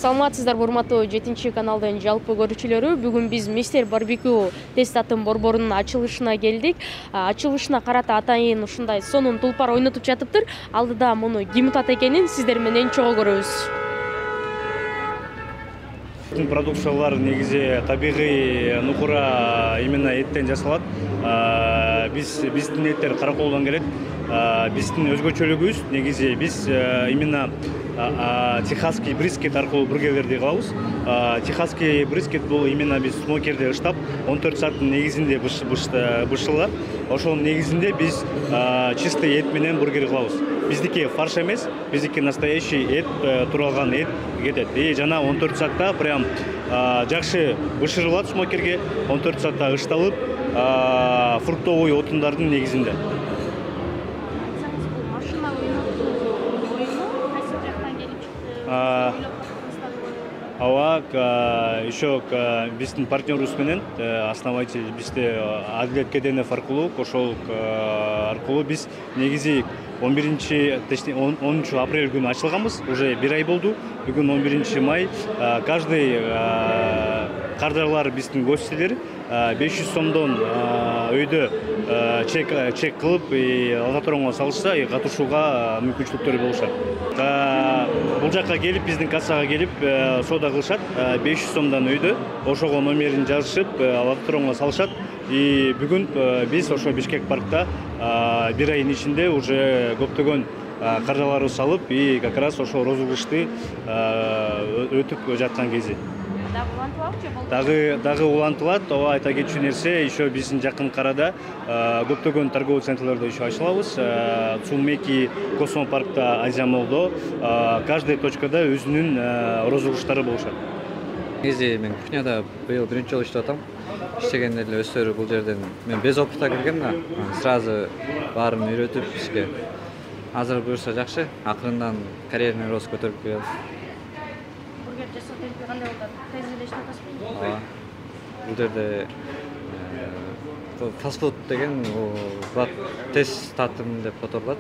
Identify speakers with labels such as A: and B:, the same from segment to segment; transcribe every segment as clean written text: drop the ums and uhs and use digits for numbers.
A: Саламатсыздарбы, урматтуу 7-каналдын жалпы көрүүчүлөрү. Бүгүн биз Мистер Барбекю тест атын борборунун ачылышына келдик. Ачылышына карата атайын ушундай сонун тулпар ойнотуп жатыптыр. Алдыда муну ким утат экенин сиздер менен чогуу көрөбүз.
B: Продукциялар негизи табигый нукура именно эттен жасалат. Биздин эттер Караколдон келет. Биздин өзгөчөлүгүбүз негизи биз именно техасский брискет аркылуу бургерлерди кылабыз. Техасский брискет бул именно биз смокерде ыштап 14 сааттын негизинде бышылат. Ошонун негизинде биз чистый эт менен бургер кылабыз. Биздики фарш эмес, биздики настоящий эт, туралган эт кетет. Жана 14 саатта прям жакшы бышырылат смокерге, 14 саатта ышталып, фруктовый отундардын негизинде. Еще биздин партнерубуз менен основатель бизде Адилет Кеденов аркылуу, ошол аркылуу биз негизи 10 апрель күнү ачылганбыз. Уже 1 ай болду. Бүгүн 11 май. Каждый кардарлар биздин гостилер 500 сомдон өйдө чек кылып, лототронго салышса, катышууга мүмкүнчүлүктөрү болушат. Бул жакка келип, биздин кассага келип, соода кылышат. 500 сомдон өйдө ошого номерин жазышып, лототронго салышат. И бүгүн биз ошо Бишкек паркта 1 айдын ичинде уже көптөгөн каржаларды салып, и как раз ошол розыгрышты өтүп жаткан кези. Дагы улантылат. Айта кетчү нерсе, еще биздин жакын карада көптөгөн торговый центрлерде еще ачылабыз. Цумеки, Космопаркта, Азиямолдо каждый точкада өзүнүн розыгрыштары болушат.
C: Негизи мен кухняда быйыл биринчи жолу иштеп атам. Иштеген эле өстөрү бул жерден мен без опытта келгем да, сразу баарын үйрөтүп ишке. Азыр буюрса жакшы, акырындан карьерный рост көтөрүп келем.
A: Бургер жасатып кандай болот? Тез эле иштеп атасызбы?
C: Бул жерде фастфуд деген тез татым деп которулат.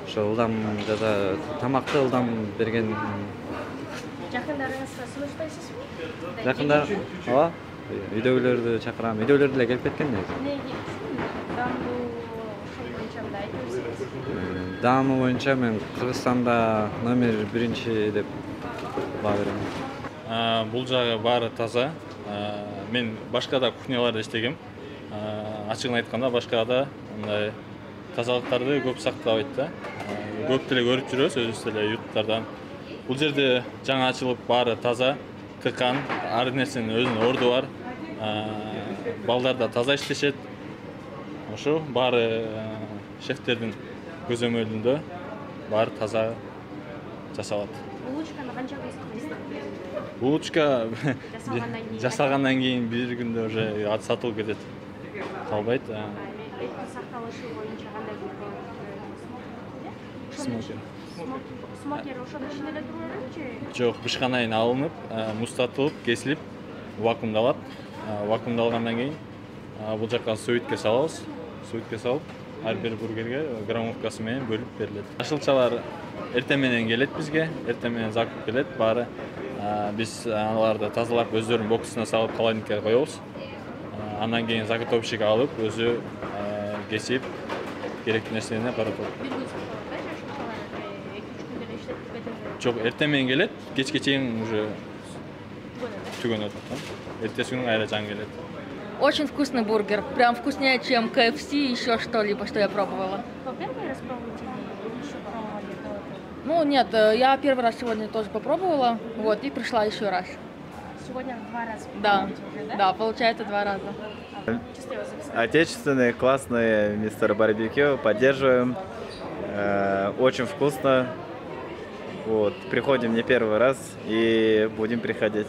C: Ошо ылдам жада тамакты ылдам берген.
A: Жакындарыңызга сунуштайсызбы?
C: Жакында үйдөгүлөрдү чакырам. Үйдөгүлөр деле келип кеткен негизи. Даамы боюнча мен Кыргызстанда номер 1 деп баа берем.
D: Бул жагы баары таза. Мен башка да кухняларда иштегем. Ачыгын айтканда башка да мындай тазалыктарды көп сактабайт да. Көп деле көрүп жүрөбүз өзүбүз деле юрттардан. Бул жерде жаңа ачылып баары таза, тыкан, ар нерсенин өзүнүн орду бар. Балдар да таза иштешет. Ошо баары шефтердин көзөмөлүндө баары таза жасалат.
A: Булочканы канча кыласыз?
D: Булочка жасалгандан кийин бир күндө уже сатылып кетет. Калбайт.
A: Сакталышы боюнча кандай
D: Смокер.
A: Смокер ошонун ичинде эле турабы?
D: Жок, бышканайын алынып, муздатылып, кесилип, вакуумдалат. Вакуумдалгандан кийин бул жакка сөйүткө салабыз. Сөйүткө салып, ар бир бургерге граммовкасы менен бөлүп берилет. Ашылчалар эртең менен келет бизге, эртең менен закуп келет. Баары биз аларды тазалап өздөрүнүн боксуна салып холодильникке коебуз. Андан кийин заготовщик алып, өзү кесип, керектүү нерсени каратат. Жок, эртең менен келет, кечке чейин уже түгөнөт. Эртеси күнү кайра жаңы келет.
E: Очень вкусный бургер. Прям вкуснее, чем KFC и еще что-либо, что я пробовала.
A: Вы первый раз пробуете или еще пробовали до этого?
E: Ну нет, я первый раз сегодня тоже попробовала, вот, и пришла еще раз.
A: Сегодня 2 раза
E: Да,
A: уже, да?
E: да, получается 2 раза.
F: Отечественный, классный Мистер Барбекю, поддерживаем. Очень вкусно. Вот, приходим не первый раз и будем приходить.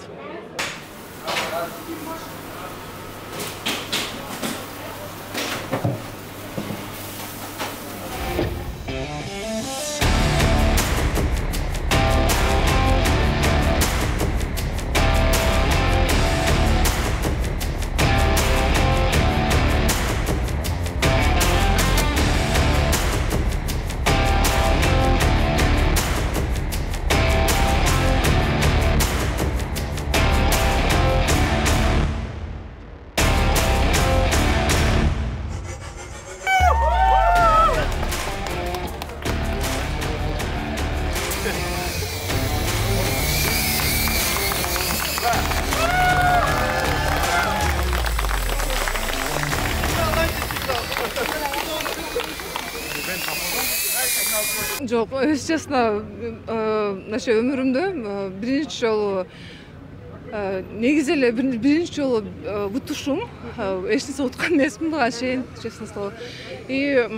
G: Жок, если честно, ошо өмүрүмдө биринчи жолу негизи эле биринчи жолу утушум. Эч нерсе уткан эмесмин буга чейин, честно слово. И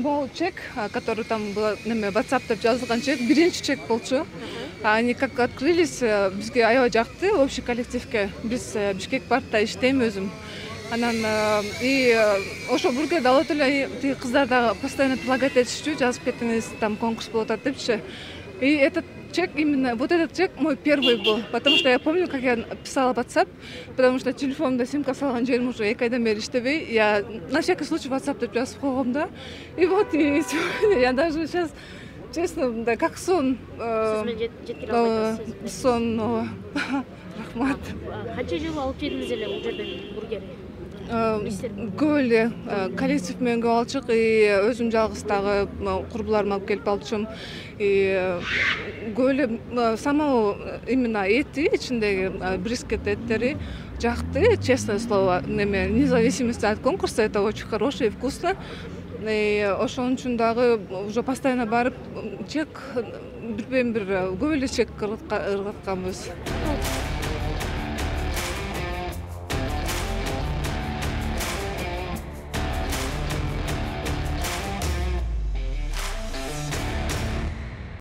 G: бул чек, который там был, WhatsApp деп жазылган чек, биринчи чек болчу. Они как открылись, бизге аябай жакты, общий коллективке. Биз Бишкек партта иштейм өзүм. Анан и ошо бир кезде алып эле тиги кыздар да постоянно предлагать этишчү, жазып кетиңиз, там конкурс болуп атат депчи. И этот чек, именно вот этот чек мой первый был, потому что я помню, как я писала в WhatsApp, потому что телефонумда симка салган жерим уже 2 айдан бери иштебей, я на всякий случай WhatsApp деп жазып койгом да. И вот и сегодня я даже сейчас, честно, да, как сон. Сон, рахмат.
A: Канча жыл алып жедиңиз эле бул жерден бургерди?
G: Көп эле коллектив менен көп алчык, и өзүм жалгыз дагы курбуларым алып келип алчумун. И көп эле самого именно эти ичиндеги брискет эттери жакты, честное слово, независимости от конкурса, это очень хорошо и вкусно. И ошон үчүн дагы уже постоянно барып чек бир көп эле чек ыргатканбыз.